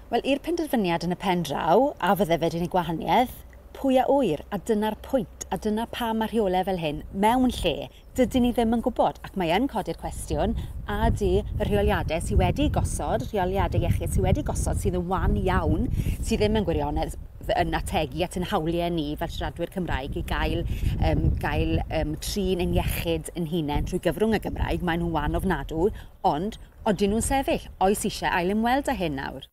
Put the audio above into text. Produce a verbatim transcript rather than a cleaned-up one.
Wel, i'r penderfyniad yn y pen draw, a fydde fe 'di neud gwahaniaeth, pwy a ŵyr, a dyna'r pwynt, a dyna pam mae rheolau fel hyn mewn lle, dydyn ni ddim yn gwybod, ac mae yn codi'r cwestiwn, a ydy y rheoliadau sydd wedi gosod, rheoliadau iechyd sydd wedi gosod, sydd yn wan iawn, sydd ddim yn gwirionedd yn ategu at ein hawliau ni fel siaradwyr Cymraeg i gael, um, gael um, trin ein iechyd yn hunain trwy gyfrwng y Gymraeg, maen nhw'n wan ofnadw, ond odyn nhw'n sefyll? Oes eisiau ail ymweld â hyn nawr?